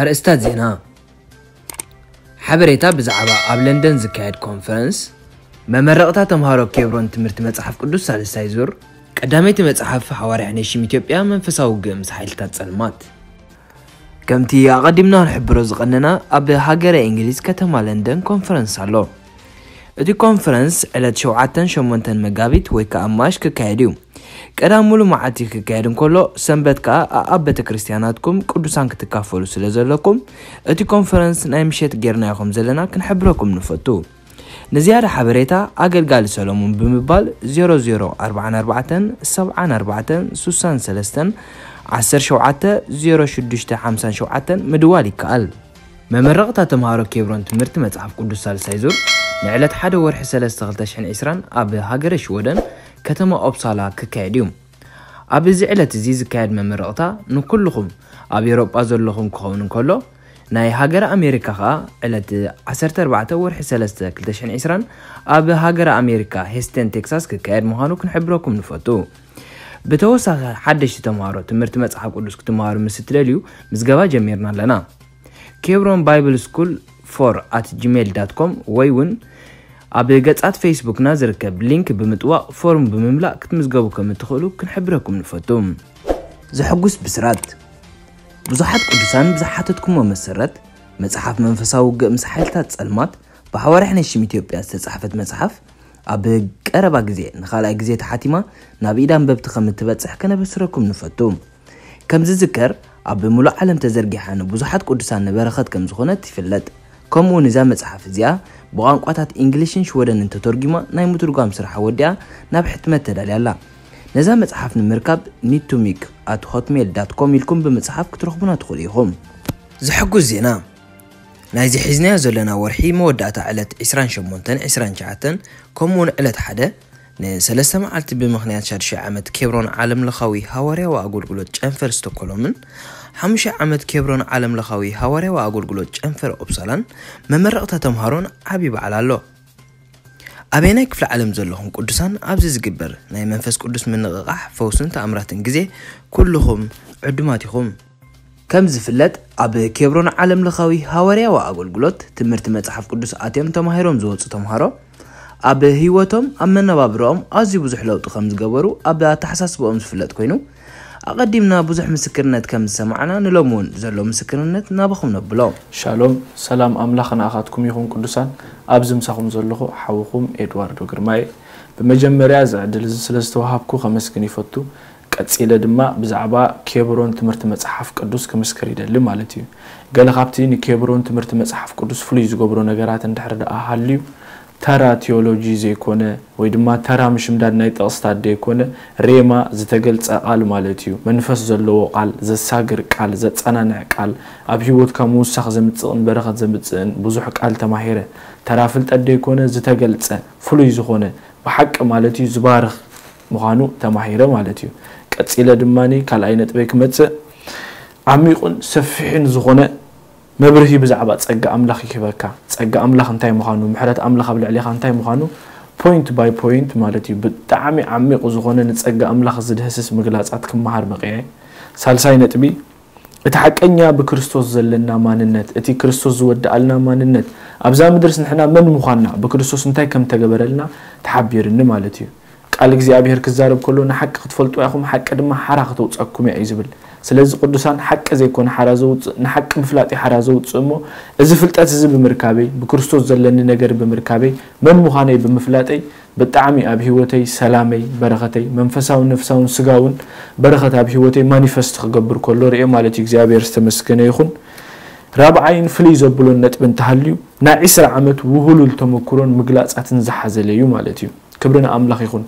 ኣርእስታት ዜና። ሓበሬታ ብዛዕባ ኣብ ለንደን ዝካየድ ኮንፈረንስ፣ መመረቕታ ተምሃሮ ኬብሮን ትምህርቲ መጽሓፍ ቅዱስ ሳልሳይ ዙር፣ ቀዳመይቲ መጽሓፍ ሃዋርያ ነሽም ኢትዮጵያ መንፈሳዊ ውግእ ምስ ሓይልታት ጸልማት። ከምቲ ኣቐዲምና ክንሕብሮ ዝቐነና፣ ኣብ ሃገረ እንግሊዝ ከተማ ለንደን ኮንፈረንስ ኣሎ። እቲ ኮንፈረንስ ዕለት ሸውዓተን ሸሞንተን መጋቢት ወይ ከኣ ማሽ ክካየድ እዩ። ቀዳም ሙሉ መዓልቲ ክካየድ እንከሎ፣ ሰንበት ከኣ ኣኣብ ቤተ ክርስቲያናትኩም ቅዱሳን ክትካፈሉ ስለ ዘለኩም፣ እቲ ኮንፈረንስ ናይ ምሸት ጌርናዮ ከም ዘለና ክንሕብረኩም ንፈቱ። ንዝያዳ ሓበሬታ ኣገልጋሊ ሰሎሞን ብምባል ዜሮ ዜሮ ኣርባዓን ኣርባዕተን ሰብዓን ኣርባዕተን ስሳን ሰለስተን ዓሰርተ ሸውዓተ ዜሮ ሽዱሽተ ሓምሳን ሸውዓተን ምድዋል ይከኣል። መመረቕታ ተምሃሮ ኬብሮን ትምህርቲ መጽሓፍ ቅዱስ ሳልሳይ ዙር ንዕለት ሓደ ወርሒ ሰለስተ ክልተ ሽሕን ዕስራን ኣብ ሃገረ ሽወደን ከተማ ኦፕሳላ ክካየድ እዩ። ኣብ እዚ ዕለት እዚ ዝካየድ መመረቕታ ንኩልኹም ኣብ ኤውሮጳ ዘለኹም ክኸውን እንከሎ፣ ናይ ሃገረ ኣሜሪካ ኸኣ ዕለት ዓሰርተ ኣርባዕተ ወርሒ ሰለስተ ክልተ ሽሕን ዕስራን ኣብ ሃገረ ኣሜሪካ ሄስተን ቴክሳስ ክካየድ ምዃኑ ክንሕብረኩም ንፈቱ። ብተወሳኺ ሓደሽቲ ተምሃሮ ትምህርቲ መጽሓፍ ቅዱስ ክትምሃሩ ምስ እትደልዩ ምዝገባ ጀሚርና ኣለና። ኬብሮን ባይብል ስኩል ፎር ኣት ጂሜል ዳት ኮም ወይ እውን ኣብ ገጻት ፌስቡክና ዝርከብ ሊንክ ብምጥዋቕ ፎርም ብምምላእ ክትምዝገቡ ከም እትኽእሉ ክንሕብረኩም ንፈቱ። ዘሐጉስ ብስራት። ብዙሓት ቅዱሳን ብዝሓተትኩሞ መሰረት፣ መጽሓፍ መንፈሳዊ ውግእ ምስ ሓይልታት ጸልማት ብሓዋርያ ሕነሽም ኢትዮጵያ ዝተጻሕፈት መጽሓፍ ኣብ ቀረባ ግዜ ንኻልኣይ ግዜ ተሓቲማ ናብ ኢድ ኣንበብቲ ከም እትበጽሕ ከነበስረኩም ንፈቱ። ከም ዝዝከር፣ ኣብ ምሉእ ዓለም ተዘርጊሓ ንብዙሓት ቅዱሳን ንበረኸት ከም ዝኾነት ይፍለጥ። ከምኡ እውን እዛ መጽሓፍ እዚኣ ብቋንቋታት እንግሊሽን ሽወደንን ተተርጒማ ናይ ምትርጓም ስራሕ ወዲኣ ናብ ሕትመት ተዳልያ ኣላ። ነዛ መጽሓፍ ንምርካብ ኒቱሚክ ኣት ሆትሜል ዳት ኮም ኢልኩም ብምጽሓፍ ክትረኽቡና ትኽእሉ ኢኹም። ዘሐጉስ ዜና። ናይዚ ሒዝናዮ ዘለና ወርሒ መወዳእታ ዕለት ዕስራን ሸሞንተን፣ ዕስራን ትሽዓተን፣ ከምኡ እውን ዕለት ሓደ ንሰለስተ መዓልቲ ብምኽንያት ሻድሻይ ዓመት ኬብሮን ዓለምለኻዊ ሃዋርያዊ ኣገልግሎት ጨንፈር ስቶኮሎምን ሓሙሻይ ዓመት ኬብሮን ዓለምለኻዊ ሃዋርያዊ ኣገልግሎት ጨንፈር ኦፕሳላን መመረቕታ ተምሃሮን ዓቢ በዓል ኣሎ። ኣበየናይ ክፍለ ዓለም ዘለኹም ቅዱሳን ኣብዚ ዝግበር ናይ መንፈስ ቅዱስ ምንቕቓሕ፣ ፈውስን ተኣምራትን ግዜ ኩልኹም ዕዱማት ኢኹም። ከም ዝፍለጥ፣ ኣብ ኬብሮን ዓለምለኻዊ ሃዋርያዊ ኣገልግሎት ትምህርቲ መጽሓፍ ቅዱስ ኣትዮም ተማሂሮም ዝወጹ ተምሃሮ፣ ኣብ ህይወቶም፣ ኣብ መነባብሮኦም ኣዝዩ ብዙሕ ለውጢ ከም ዝገበሩ ኣብ ኣተሓሳስባኦም ዝፍለጥ ኮይኑ፣ ኣቐዲምና ብዙሕ ምስክርነት ከም ዝሰማዕና፣ ንሎሚ እውን ዘሎ ምስክርነት ናባኹም ነብሎ። ሻሎም፣ ሰላም ኣምላኽ ንኣኻትኩም ይኹን ቅዱሳን። ኣብዚ ምሳኹም ዘለኹ ሓውኹም ኤድዋርዶ ግርማይ። ብመጀመርያ እዚ ዕድል እዚ ስለ ዝተዋሃብኩ ከመስግን ይፈቱ። ቀጺለ ድማ ብዛዕባ ኬብሮን ትምህርቲ መጽሓፍ ቅዱስ ክምስክር ይደሊ ማለት እዩ። ገለ ካብቲ ንኬብሮን ትምህርቲ መጽሓፍ ቅዱስ ፍሉይ ዝገብሮ ነገራት እንድሕር ደኣ ሃልዩ፣ ተራ ቲዮሎጂ ዘይኮነ ወይ ድማ ተራ ምሽምዳድ ናይ ጥቕስታት ዘይኮነ፣ ሬማ ዝተገልጸ ቃል ማለት እዩ። መንፈስ ዘለዎ ቃል፣ ዘሳግር ቃል፣ ዘጸናንዕ ቃል፣ ኣብ ህይወትካ ምውሳኽ ዘምጽእን በረኸት ዘምጽእን ብዙሕ ቃል ተማሂረ። ተራ ፍልጠት ዘይኮነ ዝተገልጸ፣ ፍሉይ ዝኾነ፣ ብሓቂ ማለት እዩ፣ ዝባርኽ ምዃኑ ተማሂረ ማለት እዩ። ቀጺለ ድማ ካልኣይ ነጥበይ ክመጽእ፣ ዓሚቑን ሰፊሕን ዝኾነ መብርሂ ብዛዕባ ጸጋ ኣምላኽ ይህበካ። ጸጋ ኣምላኽ እንታይ ምዃኑ፣ ምሕረት ኣምላኽ ኣብ ልዕሌኻ እንታይ ምዃኑ፣ ፖይንት ባይ ፖይንት ማለት እዩ። ብጣዕሚ ዓሚቑ ዝኾነ ንጸጋ ኣምላኽ ዝድህስስ ምግላጻት ክመሃር በቒዐ። ሳልሳይ ነጥቢ፣ እቲ ሓቀኛ ብክርስቶስ ዘለና ማንነት፣ እቲ ክርስቶስ ዝወድኣልና ማንነት፣ ኣብዛ ምድርስ ንሕና መን ምዃንና፣ ብክርስቶስ እንታይ ከም ተገበረልና ተሓቢርኒ ማለት እዩ። ቃል እግዚኣብሔር ክዛረብ ከሎ፣ "ንሓቂ ክትፈልጡ ኢኹም፣ ሓቂ ድማ ሓራ ከተውጸኩም እያ" እዩ ዝብል። ስለዚ ቅዱሳን፣ ሓቂ ዘይኮነ ሓራ ዘውጽእ፣ ንሓቂ ምፍላጥ እዩ ሓራ ዘውጽእ እሞ፣ እዚ ፍልጠት እዚ ብምርካበይ፣ ብክርስቶስ ዘለኒ ነገር ብምርካበይ፣ መን ምዃነይ ብምፍላጠይ፣ ብጣዕሚ ኣብ ህይወተይ ሰላመይ፣ በረኸተይ፣ መንፈሳውን ነፍሳውን ስጋውን በረኸት ኣብ ህይወተይ ማኒፈስት ክገብር ከሎ ርእየ ማለት እዩ። እግዚኣብሔር ዝተመስገነ ይኹን። ራብዓይን ፍልይ ዘብሎን ነጥቢ እንተሃልዩ፣ ናይ ዕስራ ዓመት ውህሉል ተመክሮን ምግላጻትን ዝሓዘለ እዩ ማለት እዩ። ክብሪ ንኣምላኽ ይኹን።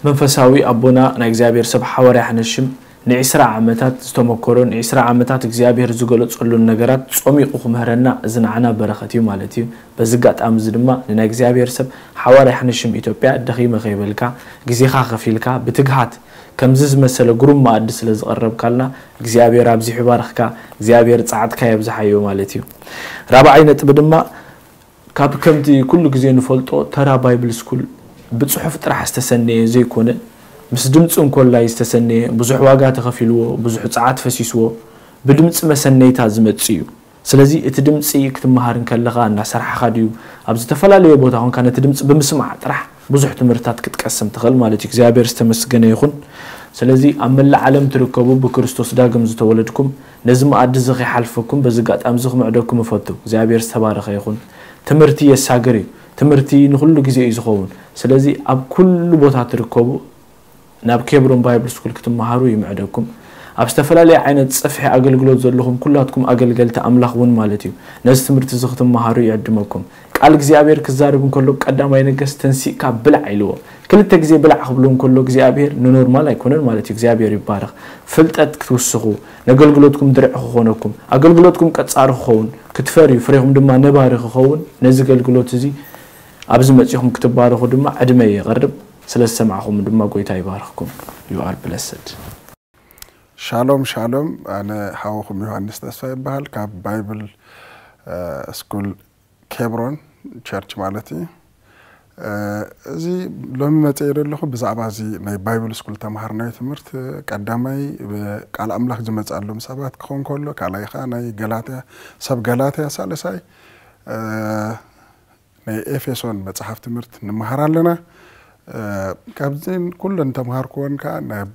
መንፈሳዊ ኣቦና ናይ እግዚኣብሔር ሰብ ሓዋርያ ሓነሽም ንዒስራ ዓመታት ዝተመኮሮ፣ ንዒስራ ዓመታት እግዚኣብሔር ዝገለጸሉን ነገራት ጾሚቑ ክምህረና፣ እዚ ንዓና በረኸት እዩ ማለት እዩ። በዚ ኣጋጣሚ እዚ ድማ ንናይ እግዚኣብሔር ሰብ ሓዋርያ ሓነሽም ኢትዮጵያ ደኺመ ከይበልካ፣ ግዜኻ ከፊልካ ብትግሃት ከምዚ ዝመሰለ ግሩም መኣዲ ስለ ዝቐረብካልና፣ እግዚኣብሔር ኣብዚሑ ይባርኽካ፣ እግዚኣብሔር ጸዓትካ የብዝሓዮ ማለት እዩ። ራብዓይ ነጥቢ ድማ፣ ካብ ከምቲ ኩሉ ግዜ ንፈልጦ ተራ ባይብል ስኩል ብጽሑፍ ጥራሕ ዝተሰነየ ዘይኮነ፣ ምስ ድምጺ እንኮላይ ዝተሰነየ፣ ብዙሕ ዋጋ ተኸፊልዎ፣ ብዙሕ ጸዓት ፈሲስዎ፣ ብድምፂ መሰነይታ ዝመፅእ እዩ። ስለዚ እቲ ድምፂ ክትመሃር እንከለኻ እናሰራሕኻ ድዩ ኣብ ዝተፈላለየ ቦታ ኮንካ ነቲ ድምፂ ብምስማዕ ጥራሕ ብዙሕ ትምህርታት ክትቀስም ትኽእል ማለት እዩ። እግዚኣብሔር ዝተመስገነ ይኹን። ስለዚ ኣብ መላእ ዓለም ትርከቡ ብክርስቶስ ዳግም ዝተወለድኩም ነዚ መኣዲ እዚ ከይሓልፈኩም በዚ ኣጋጣሚ እዚ ክምዕደኩም እፈቱ። እግዚኣብሔር ዝተባረኸ ይኹን። ትምህርቲ የሳግር እዩ። ትምህርቲ ንኹሉ ግዜ እዩ ዝኸውን። ስለዚ ኣብ ኩሉ ቦታ ትርከቡ ናብ ኬብሮን ባይብል ስኩል ክትመሃሩ ይምዕደኩም። ኣብ ዝተፈላለየ ዓይነት ጽፍሒ ኣገልግሎት ዘለኹም ኩላትኩም ኣገልገልቲ ኣምላኽ እውን ማለት እዩ። ነዚ ትምህርቲ እዚ ክትመሃሩ ይዕድመኩም። ቃል እግዚኣብሔር ክዛረብ እንከሎ ቀዳማይ ነገስ ተንሲእካ ብላዕ ኢልዎ። ክልተ ግዜ ብላዕ ክብሎ እንከሎ እግዚኣብሔር ንኖርማል ኣይኮነን ማለት እዩ። እግዚኣብሔር ይባረኽ። ፍልጠት ክትውስኹ፣ ነገልግሎትኩም ድርዒ ክኾነኩም፣ ኣገልግሎትኩም ቀጻሪ ክኸውን፣ ክትፈርዩ፣ ፍሬኹም ድማ ነባሪ ክኸውን፣ ነዚ ኣገልግሎት እዚ ኣብዚ መጺኹም ክትባረኹ ድማ ዕድመ የቕርብ። ስለ ዝሰማዕኹም ድማ ጎይታ ይባርኽኩም። You are blessed። ሻሎም ሻሎም፣ ኣነ ሓወኹም ዮሃንስ ተስፋ ይበሃል፣ ካብ ባይብል ስኩል ኬብሮን ቸርች ማለት እዩ። እዚ ሎሚ መፅአ ዘለኹ ብዛዕባ እዚ ናይ ባይብል ስኩል ተምሃርናዮ ትምህርቲ፣ ቀዳማይ ቃል ኣምላኽ ዝመፅኣሎም ሰባት ክኸውን ከሎ፣ ካልኣይ ከዓ ናይ ገላትያ፣ ሰብ ገላትያ፣ ሳልሳይ ናይ ኤፌሶን መፅሓፍ ትምህርቲ ንምሃር ኣለና። ካብዚን ኩለን ተምሃርክወን ከዓ ናብ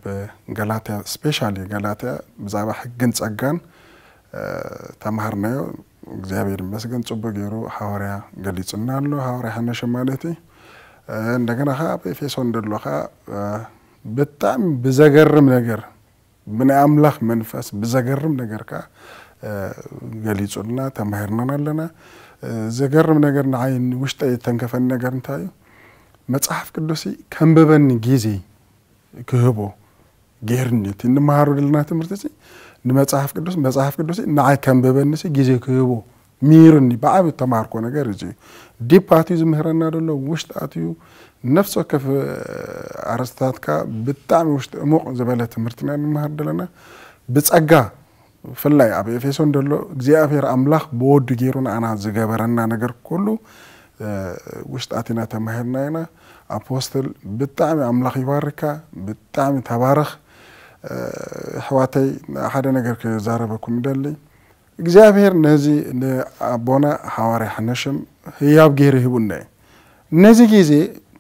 ገላትያ፣ ስፔሻሊ ገላትያ ብዛዕባ ሕግን ፀጋን ተምሃርናዮ። እግዚኣብሔር ይመስገን፣ ፅቡቅ ገይሩ ሓዋርያ ገሊፁና ኣሎ፣ ሓዋርያ ሓነሸ ማለት እዩ። እንደገና ከዓ ኣብ ኤፌሶን ደሎ ከዓ ብጣዕሚ ብዘገርም ነገር ብናይ ኣምላኽ መንፈስ ብዘገርም ነገር ከዓ ገሊፁልና፣ ተማሂርናን ኣለና። ዘገርም ነገር ንዓይ ንውሽጠይ ዝተንከፈኒ ነገር እንታይ እዩ? መፅሓፍ ቅዱስ ከንብበኒ ግዜ ክህቦ ገይርኒ፣ እቲ እንመሃሮ ዘለና ትምህርቲ እዚ ንመፅሓፍ ቅዱስ፣ መፅሓፍ ቅዱስ ንዓይ ከንብበኒ ግዜ ክህቦ ሚሩኒ ብዓቢ ተማርኮ ነገር እዚ እዩ። ዲፕ ኣትዩ ዝምህረና ዘሎ ውሽጢ ኣትዩ ነፍሲ ወከፍ ኣረስታትካ ብጣዕሚ ውሽጢ እሙቕ ዝበለ ትምህርትና ንምሃር ዘለና ብጸጋ። ብፍላይ ኣብ ኤፌሶን ዘሎ እግዚኣብሔር ኣምላኽ ብወዱ ገይሩ ንኣና ዝገበረና ነገር ኩሉ ውሽጣት ኢና ተማሂርና ኢና። ኣፖስትል ብጣዕሚ ኣምላኽ ይባርካ፣ ብጣዕሚ ተባረኽ። ኣሕዋተይ ሓደ ነገር ክዛረበኩም ይደሊ። እግዚኣብሔር ነዚ ንኣቦና ሓዋርያ ሓነሽም ህያብ ገይሩ ሂቡና እዩ። ነዚ ግዜ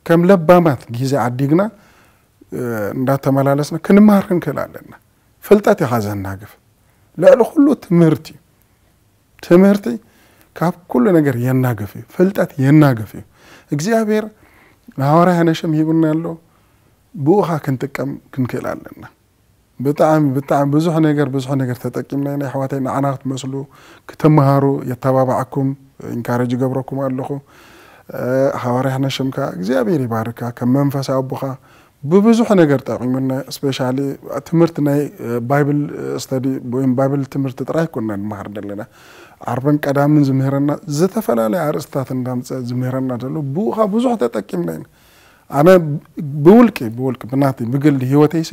ከም ለባማት ግዜ ዓዲግና እንዳተመላለስና ክንመሃር ክንክእል ኣለና። ፍልጠት ኢኻ ዘናግፍ። ልዕሊ ኩሉ ትምህርቲ እዩ። ትምህርቲ ካብ ኩሉ ነገር የናግፍ እዩ። ፍልጠት የናግፍ እዩ። እግዚኣብሔር ንሓዋርያ ሓነሽም ሂቡና ኣሎ። ብኡኻ ክንጥቀም ክንክእል ኣለና። ብጣዕሚ ብጣዕሚ ብዙሕ ነገር ብዙሕ ነገር ተጠቂምና ኢና ኣሕዋተይ። ንዓና ክትመስሉ ክትመሃሩ የተባባዓኩም፣ ኢንካሬጅ ይገብረኩም ኣለኹ። ሓዋርያ ሓነሽም ከዓ እግዚኣብሔር ይባርካ፣ ከም መንፈሳዊ ኣቦኻ ብብዙሕ ነገር ጠቂሙና። ስፔሻሊ ትምህርቲ ናይ ባይብል ስተዲ ወይም ባይብል ትምህርቲ ጥራይ ኮና ንመሃር ዘለና። ዓርብን ቀዳምን ዝምህረና ዝተፈላለየ ኣርእስታት እንዳምፀ ዝምህረና ዘሎ ብኡ ከዓ ብዙሕ ተጠቂምና ኢና። ኣነ ብውልቂ ብውልቂ ብናተይ ብግሊ ህይወተይሲ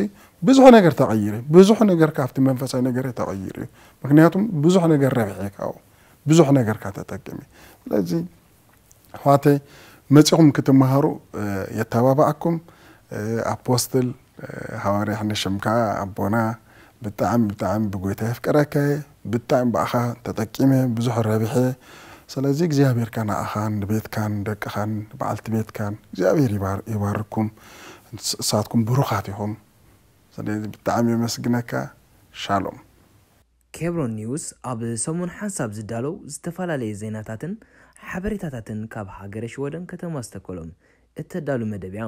ብዙሕ ነገር ተቐይሩ እዩ። ብዙሕ ነገር ካብቲ መንፈሳዊ ነገር ተቐይሩ እዩ። ምክንያቱም ብዙሕ ነገር ረብሐ ካብኡ ብዙሕ ነገር ካተጠቅም እዩ። ስለዚ ኣሕዋተይ መፂኹም ክትመሃሩ የተባባዕኩም። ኣፖስትል ሓዋርያ ሕነ ሽምካ ኣቦና ብጣዕሚ ብጣዕሚ ብጎይታ የፍቅረካ እየ። ብጣዕሚ ብኣኻ ተጠቂመ ብዙሕ ረብሐ። ስለዚ እግዚኣብሔር ከ ንኣኻን ንቤትካን ደቅኻን በዓልቲ ቤትካን እግዚኣብሔር ይባርኩም። እሳትኩም ብሩኻት ኢኹም። ስለዚ ብጣዕሚ የመስግነካ። ሻሎም። ኬብሮን ኒውስ ኣብ ሰሙን ሓንሳብ ዝዳለው ዝተፈላለየ ዜናታትን ሓበሬታታትን ካብ ሃገረ ሽወደን ከተማ ስተኮሎም እተዳሉ መደብ እያ።